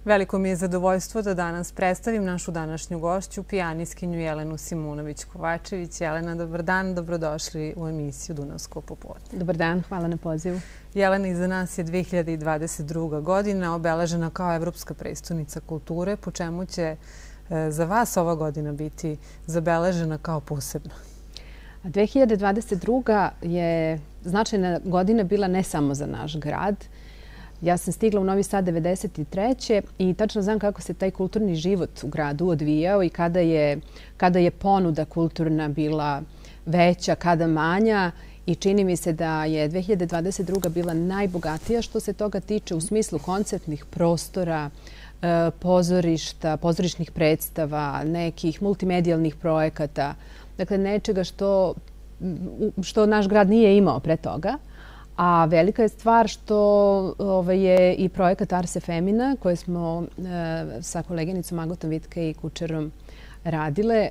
Veliko mi je zadovoljstvo da danas predstavim našu današnju gošću, pijanistkinju Jelenu Simunović-Kovačević. Jelena, dobar dan, dobrodošli u emisiju Dunavsko popodne. Dobar dan, hvala na pozivu. Jelena, iza nas je 2022. godina, obeležena kao Evropska prestonica kulture, po čemu će za vas ova godina biti zabeležena kao posebna? 2022. je značajna godina bila ne samo za naš grad. Ja sam stigla u Novi Sad 1993. i tačno znam kako se taj kulturni život u gradu odvijao i kada je ponuda kulturna bila veća, kada manja. I čini mi se da je 2022. bila najbogatija što se toga tiče u smislu koncertnih prostora, pozorišta, pozorišnih predstava, nekih multimedijalnih projekata. Dakle, nečega što naš grad nije imao pre toga. A velika je stvar što je i projekat Ars Femina koji smo sa koleginicom Agotom Vitke i Kučerom radile.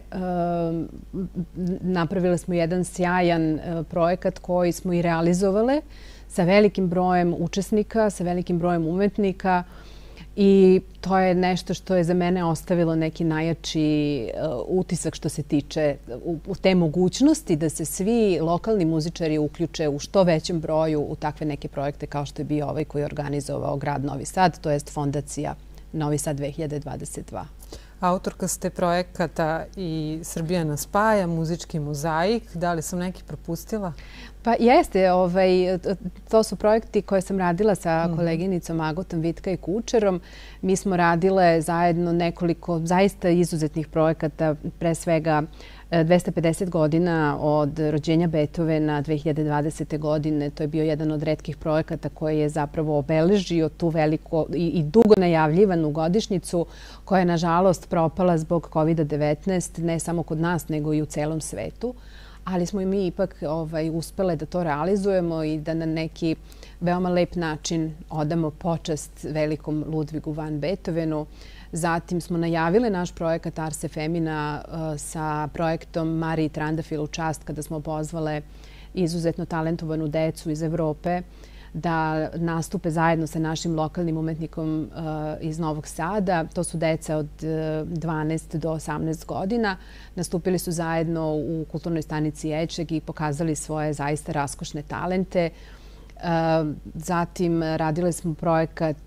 Napravile smo jedan sjajan projekat koji smo i realizovale sa velikim brojem učesnika, sa velikim brojem umetnika. I to je nešto što je za mene ostavilo neki najjači utisak što se tiče u te mogućnosti da se svi lokalni muzičari uključe u što većem broju u takve neke projekte kao što je bio ovaj koji je organizovao grad Novi Sad, to jest Fondacija Novi Sad 2022. Autorka ste projekata i Srbija nas spaja, muzički mozaik. Da li sam neki propustila? Pa jeste, to su projekti koje sam radila sa koleginicom Agotom Vitka i Kučerom. Mi smo radile zajedno nekoliko zaista izuzetnih projekata, pre svega 250 godina od rođenja Beethovena 2020. godine. To je bio jedan od retkih projekata koji je zapravo obeležio tu veliko i dugo najavljivanu godišnjicu koja je nažalost propala zbog COVID-19, ne samo kod nas nego i u celom svetu. Ali smo i mi ipak uspele da to realizujemo i da na neki veoma lep način odamo počast velikom Ludvigu van Beethovenu. Zatim smo najavile naš projekat Ars Femina sa projektom Mariji Trandafil u čast kada smo pozvale izuzetno talentovanu decu iz Evrope da nastupe zajedno sa našim lokalnim umetnikom iz Novog Sada. To su deca od 12 do 18 godina. Nastupili su zajedno u kulturnoj stanici Ečeg i pokazali svoje zaista raskošne talente. Zatim radili smo projekat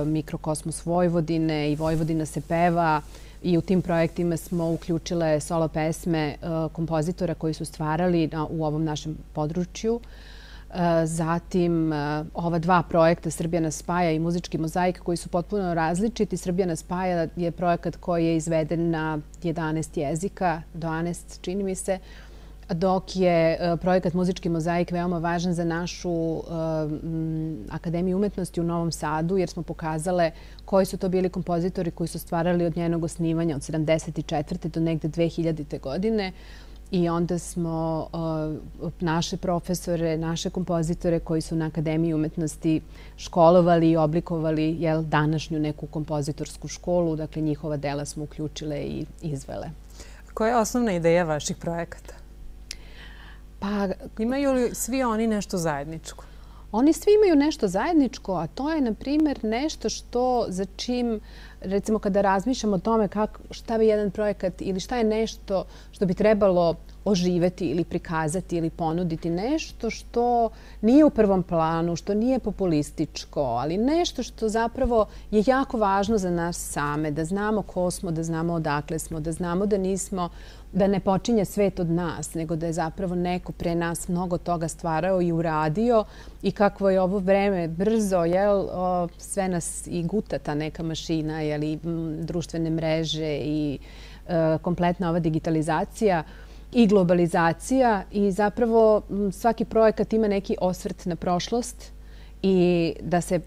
Mikrokosmos Vojvodine i Vojvodina se peva i u tim projektima smo uključile solo pesme kompozitora koji su stvarali u ovom našem području. Zatim ova dva projekta Srbija nas spaja i muzički mozaik koji su potpuno različiti. Srbija nas spaja je projekat koji je izveden na 11 jezika, 12 čini mi se, dok je projekat Muzički mozaik veoma važan za našu Akademiju umetnosti u Novom Sadu jer smo pokazale koji su to bili kompozitori koji su stvarali od njenog osnivanja od 1974. do negde 2000. godine. I onda smo naše profesore, naše kompozitore koji su na Akademiji umetnosti školovali i oblikovali današnju neku kompozitorsku školu. Dakle, njihova dela smo uključile i izvele. Koja je osnovna ideja vaših projekata? Pa, imaju li svi oni nešto zajedničko? Oni svi imaju nešto zajedničko, a to je, na primjer, nešto za čim, recimo, kada razmišljamo o tome šta bi jedan projekat ili šta je nešto što bi trebalo oživeti ili prikazati ili ponuditi, nešto što nije u prvom planu, što nije populističko, ali nešto što zapravo je jako važno za nas same, da znamo ko smo, da znamo odakle smo, da znamo da ne počinje svet od nas, nego da je zapravo neko pre nas mnogo toga stvarao i uradio i kakvo je ovo vreme brzo, sve nas i guta ta neka mašina, društvene mreže i kompletna ova digitalizacija i globalizacija i zapravo svaki projekat ima neki osvrt na prošlost i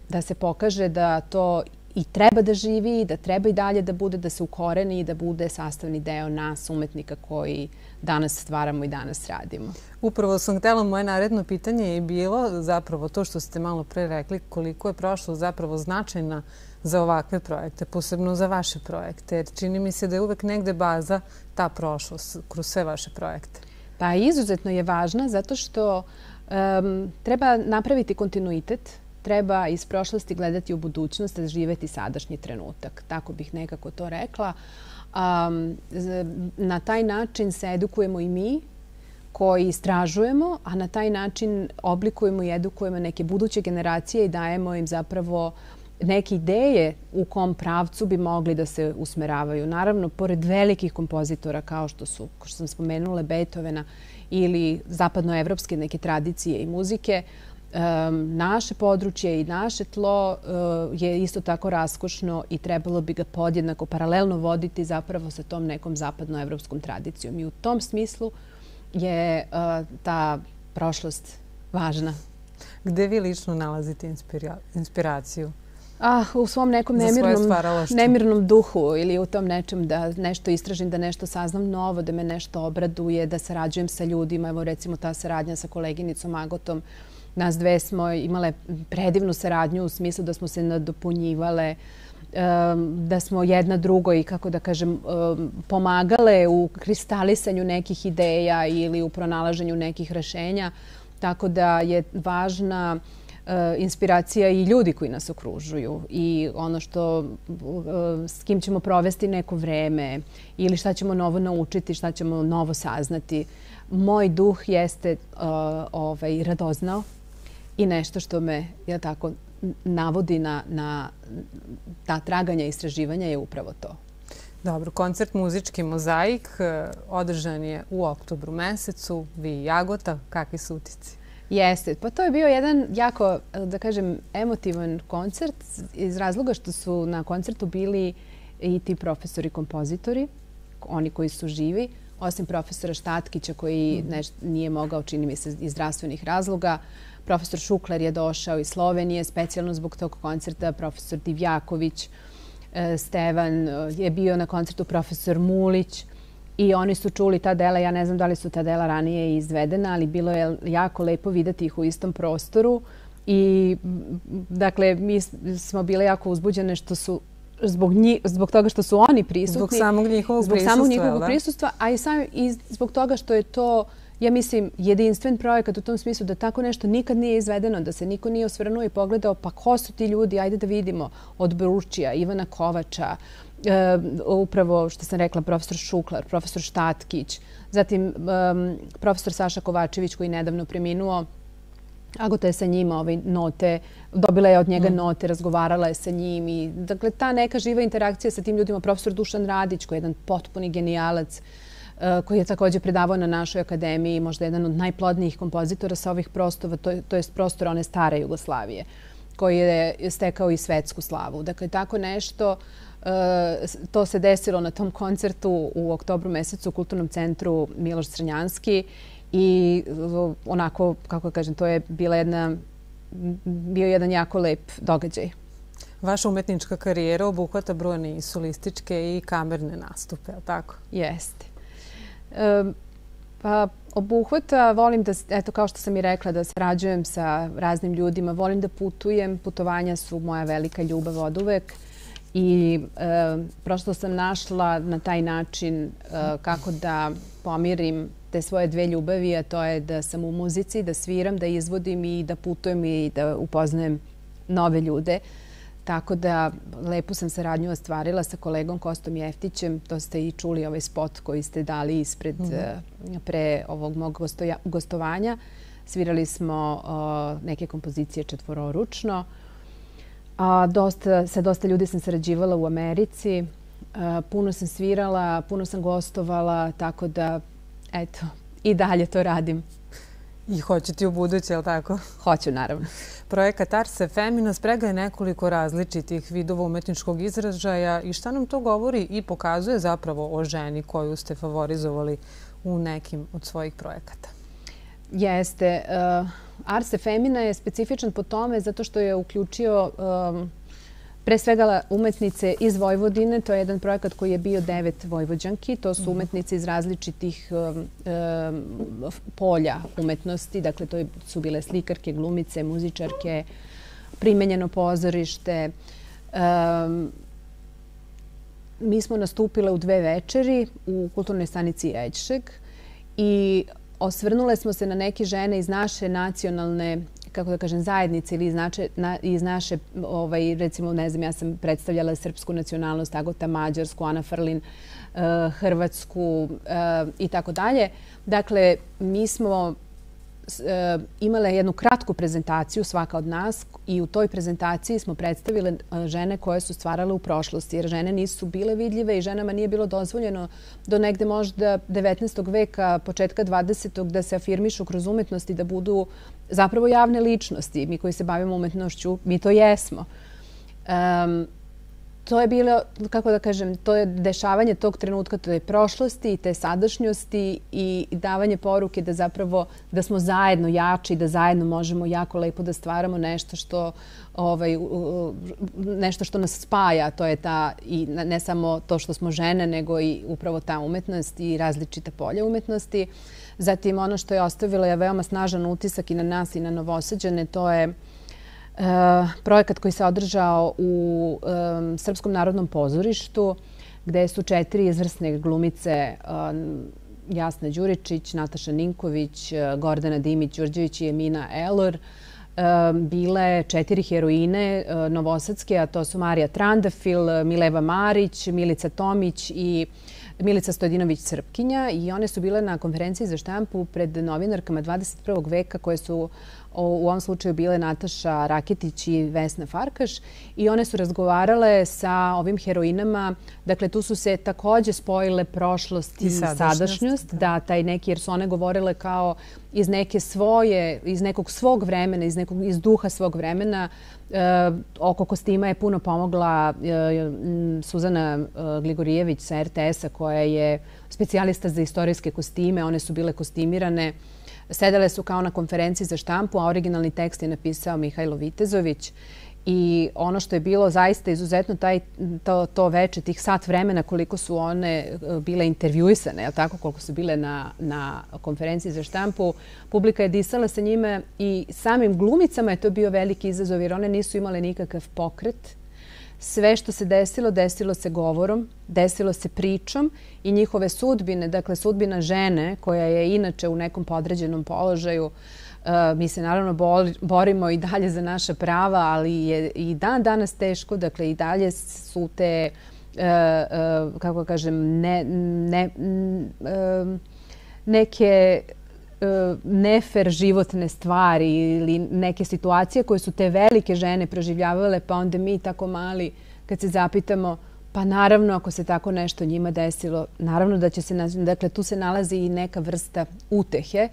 da se pokaže da to i treba da živi, da treba i dalje da bude, da se ukoreni i da bude sastavni deo nas, umetnika koji danas stvaramo i danas radimo. Upravo sam htjela, moje naredno pitanje je bilo zapravo to što ste malo pre rekli, koliko je prošlost zapravo značajna za ovakve projekte, posebno za vaše projekte, jer čini mi se da je uvek negde baza ta prošlost kroz sve vaše projekte. Pa izuzetno je važna zato što treba napraviti kontinuitet treba iz prošlosti gledati u budućnost, a živeti sadašnji trenutak. Tako bih nekako to rekla. Na taj način se edukujemo i mi koji istražujemo, a na taj način oblikujemo i edukujemo neke buduće generacije i dajemo im zapravo neke ideje u kom pravcu bi mogli da se usmeravaju. Naravno, pored velikih kompozitora kao što su, kao što sam spomenula, Beethovena ili zapadnoevropske neke tradicije i muzike, naše područje i naše tlo je isto tako raskošno i trebalo bi ga podjednako paralelno voditi zapravo sa tom nekom zapadnoevropskom tradicijom. I u tom smislu je ta prošlost važna. Gde vi lično nalazite inspiraciju? U svom nekom nemirnom duhu ili u tom nečem da nešto istražim, da nešto saznam novo, da me nešto obraduje, da sarađujem sa ljudima. Evo recimo ta saradnja sa koleginicom Agotom. Nas dve smo imale predivnu saradnju u smislu da smo se nadopunjivale, da smo jedna drugoj, kako da kažem, pomagale u kristalisanju nekih ideja ili u pronalaženju nekih rešenja. Tako da je važna inspiracija i ljudi koji nas okružuju i ono što s kim ćemo provesti neko vreme ili šta ćemo novo naučiti, šta ćemo novo saznati. Moj duh jeste radoznao i nešto što me tako navodi na ta traganja i istraživanja je upravo to. Dobro, koncert Muzički mozaik održan je u oktobru mesecu. Vi i Agota, kakvi su utisci? Jeste. Pa to je bio jedan jako, da kažem, emotivan koncert iz razloga što su na koncertu bili i ti profesori kompozitori, oni koji su živi, osim profesora Štatkića koji nije mogao, čini mi se, iz zdravstvenih razloga. Profesor Šukler je došao iz Slovenije specijalno zbog tog koncerta, profesor Divjaković, Stevan je bio na koncertu, profesor Mulić. I oni su čuli ta dela, ja ne znam da li su ta dela ranije izvedena, ali bilo je jako lepo videti ih u istom prostoru. I, dakle, mi smo bile jako uzbuđene što su, zbog toga što su oni prisutni. Zbog samog njihovog prisustva, a i zbog toga što je to, ja mislim, jedinstven projekat u tom smislu da tako nešto nikad nije izvedeno, da se niko nije osvrnuo i pogledao pa ko su ti ljudi, ajde da vidimo, od Bručija, Ivana Kovača, upravo što sam rekla, profesor Šuklar, profesor Štatkić, zatim profesor Saša Kovačević koji je nedavno preminuo. Agota je sa njima note, dobila je od njega note, razgovarala je sa njim i dakle ta neka živa interakcija sa tim ljudima. Profesor Dušan Radić koji je jedan potpuni genijalac koji je također predavao na našoj akademiji, možda jedan od najplodnijih kompozitora sa ovih prostora, to je prostora one stare Jugoslavije, koji je stekao i svetsku slavu. Dakle, tako nešto, to se desilo na tom koncertu u oktobru mesecu u Kulturnom centru Miloš Crnjanski i onako, kako kažem, to je bio jedan jako lep događaj. Vaša umetnička karijera obuhvata brojne solističke i kamerne nastupe, je li tako? Jeste. Pa obuhvata, volim da, eto kao što sam i rekla, da sarađujem sa raznim ljudima, volim da putujem, putovanja su moja velika ljubav oduvek i prosto sam našla na taj način kako da pomirim te svoje dve ljubavi, a to je da sam u muzici, da sviram, da izvodim i da putujem i da upoznajem nove ljude. Tako da lepu sam saradnju ostvarila sa kolegom Kostom Jeftićem. To ste i čuli ovaj spot koji ste dali ispred pre ovog mog gostovanja. Svirali smo neke kompozicije četvororučno. Sa dosta ljudi sam sarađivala u Americi. Puno sam svirala, puno sam gostovala, tako da eto, i dalje to radim. I hoćete u buduće, je li tako? Hoću, naravno. Projekat Ars Femina sprega je nekoliko različitih vidova umetničkog izražaja i šta nam to govori i pokazuje zapravo o ženi koju ste favorizovali u nekim od svojih projekata? Jeste. Ars Femina je specifičan po tome zato što je uključio pre svega umetnice iz Vojvodine. To je jedan projekat koji je bio 9 vojvođanki. To su umetnice iz različitih polja umetnosti. Dakle, to su bile slikarke, glumice, muzičarke, primenjeno pozorište. Mi smo nastupile u 2 večeri u kulturnoj stanici Eđšeg i osvrnule smo se na neke žene iz naše nacionalne kako da kažem, zajednice ili iz naše, recimo, ne znam, ja sam predstavljala srpsku nacionalnost, Agota mađarsku, Ana Frlin hrvatsku i tako dalje. Dakle, mi smo imale jednu kratku prezentaciju svaka od nas i u toj prezentaciji smo predstavile žene koje su stvarale u prošlosti, jer žene nisu bile vidljive i ženama nije bilo dozvoljeno do negde možda 19. veka, početka 20. da se afirmišu kroz umetnost i da budu zapravo javne ličnosti. Mi koji se bavimo umetnošću, mi to jesmo. To je bilo, kako da kažem, to je dešavanje tog trenutka, to je prošlosti i te sadašnjosti i davanje poruke da zapravo da smo zajedno jači, da zajedno možemo jako lepo da stvaramo nešto što nas spaja. To je ta, i ne samo to što smo žene, nego i upravo ta umetnost i različita polja umetnosti. Zatim ono što je ostavilo je veoma snažan utisak i na nas i na Novosađane, to je projekat koji se održao u Srpskom narodnom pozorištu, gde su 4 izvrsne glumice, Jasna Đuričić, Nataša Ninković, Gordana Dimić-Đurđević i Emina Elor, bile 4 heroine novosadske, a to su Marija Trandafil, Mileva Marić, Milica Tomić i Milica Stojdinović-Crpkinja. I one su bile na konferenciji za štampu pred novinarkama 21. veka koje su u ovom slučaju bile Nataša Raketić i Vesna Farkaš i one su razgovarale sa ovim heroinama. Dakle, tu su se takođe spojile prošlost i sadašnjost. Da, taj neki, jer su one govorile kao iz neke svoje, iz nekog svog vremena, iz duha svog vremena. Oko kostima je puno pomogla Suzana Gligorijević sa RTS-a koja je specijalista za istorijske kostime. One su bile kostimirane. Sedele su kao na konferenciji za štampu, a originalni tekst je napisao Mihajlo Vitezović. I ono što je bilo zaista izuzetno to veče, tih sat vremena koliko su one bile intervjuisane, koliko su bile na konferenciji za štampu, publika je disala sa njime i samim glumicama je to bio veliki izazov jer one nisu imale nikakav pokret. Sve što se desilo, desilo se govorom, desilo se pričom i njihove sudbine, dakle sudbina žene koja je inače u nekom podređenom položaju. Mi se naravno borimo i dalje za naša prava, ali je i dan danas teško, dakle i dalje su te, kako kažem, neke nefer životne stvari ili neke situacije koje su te velike žene proživljavale, pa onda mi tako mali kad se zapitamo, pa naravno ako se tako nešto njima desilo, naravno da će se, dakle tu se nalazi i neka vrsta utehe,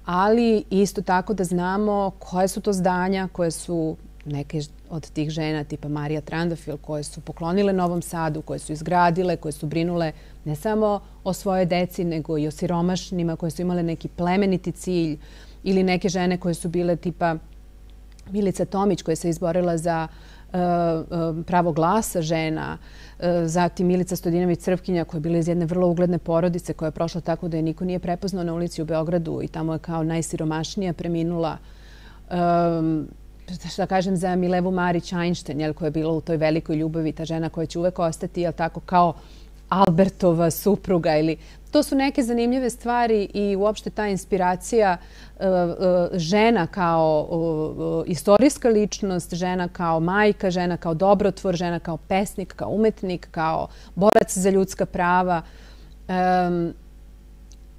ali isto tako da znamo koje su to zdanja koje su neke od tih žena tipa Marija Trandafil koje su poklonile Novom Sadu, koje su izgradile, koje su brinule ne samo o svojoj deci nego i o siromašnima, koje su imale neki plemeniti cilj ili neke žene koje su bile tipa Milica Tomić koja se izborila za pravo glasa žena, zatim Milica Stojdinović-Crpkinja koja je bila iz jedne vrlo ugledne porodice koja je prošla tako da je niko nije prepoznao na ulici u Beogradu i tamo je kao najsiromašnija preminula. Šta kažem za Milevu Marić-Einstein koja je bila u toj velikoj ljubavi, ta žena koja će uvek ostati kao Albertova supruga. To su neke zanimljive stvari i uopšte ta inspiracija žena kao istorijska ličnost, žena kao majka, žena kao dobrotvor, žena kao pesnik, kao umetnik, kao borac za ljudska prava.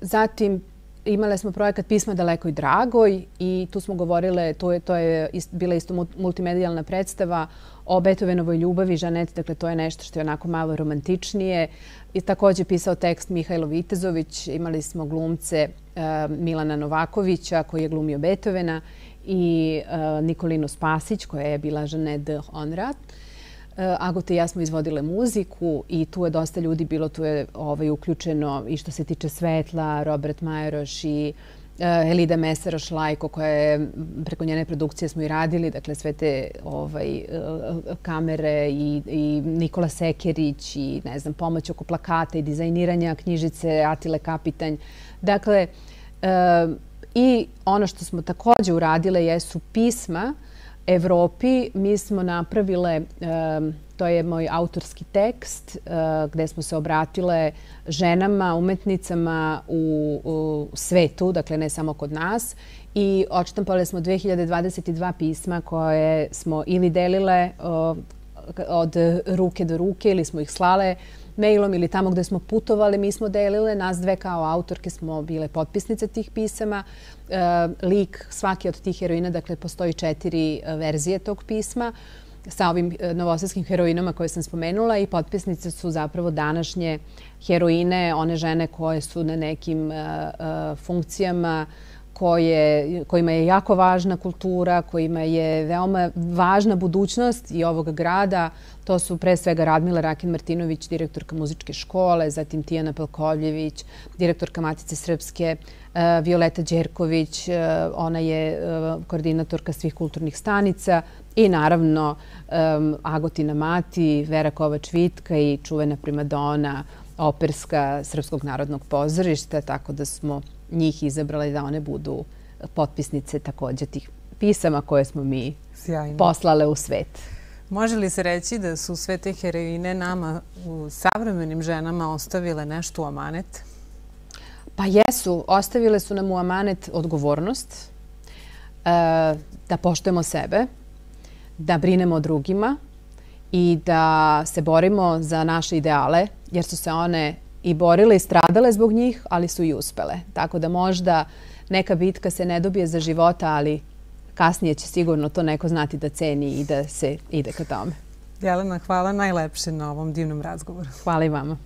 Zatim imale smo projekat Pisma dalekoj dragoj i tu smo govorile, to je bila isto multimedijalna predstava o Beethovenovoj ljubavi, Žanet, dakle to je nešto što je onako malo romantičnije. I takođe pisao tekst Mihajlo Vitezović, imali smo glumce Milana Novakovića koji je glumio Beethovena i Nikolinu Spasić koja je bila Žanet de Honrat. Agota i ja smo izvodile muziku i tu je dosta ljudi bilo, tu je uključeno i što se tiče svetla, Robert Majeroš i Elida Meseroš-Lajko koja je, preko njene produkcije smo i radili, dakle sve te kamere i Nikola Sekerić i ne znam, pomoć oko plakata i dizajniranja knjižice Atile Kapitanj. Dakle, i ono što smo takođe uradile jesu pisma Evropi. Mi smo napravile To je moj autorski tekst gde smo se obratile ženama, umetnicama u svetu, dakle ne samo kod nas. I odštampale smo 2022 pisma koje smo ili delile od ruke do ruke ili smo ih slale mailom ili tamo gde smo putovali, mi smo delile. Nas dve kao autorke smo bile potpisnice tih pisama. Lik svake od tih heroina, dakle postoji 4 verzije tog pisma sa ovim novosadskim heroinama koje sam spomenula i potpisnice su zapravo današnje heroine, one žene koje su na nekim funkcijama kojima je jako važna kultura, kojima je veoma važna budućnost i ovog grada. To su pre svega Radmila Rakin-Martinović, direktorka muzičke škole, zatim Tijana Pelkovljević, direktorka Matice Srpske, Violeta Đerković, ona je koordinatorka svih kulturnih stanica i naravno Agotina Mati, Vera Kovač-Vitka i čuvena primadona operska Srpskog narodnog pozorišta, tako da smo njih izabrali da one budu potpisnice također tih pisama koje smo mi poslale u svet. Može li se reći da su sve te heroine nama u savremenim ženama ostavile nešto u amanet? Pa jesu. Ostavile su nam u amanet odgovornost, da poštujemo sebe, da brinemo o drugima i da se borimo za naše ideale, jer su se one i borile i stradale zbog njih, ali su i uspele. Tako da možda neka bitka se ne dobije za života, ali kasnije će sigurno to neko znati da ceni i da se ide ka tome. Jelena, hvala najlepše na ovom divnom razgovoru. Hvala i vama.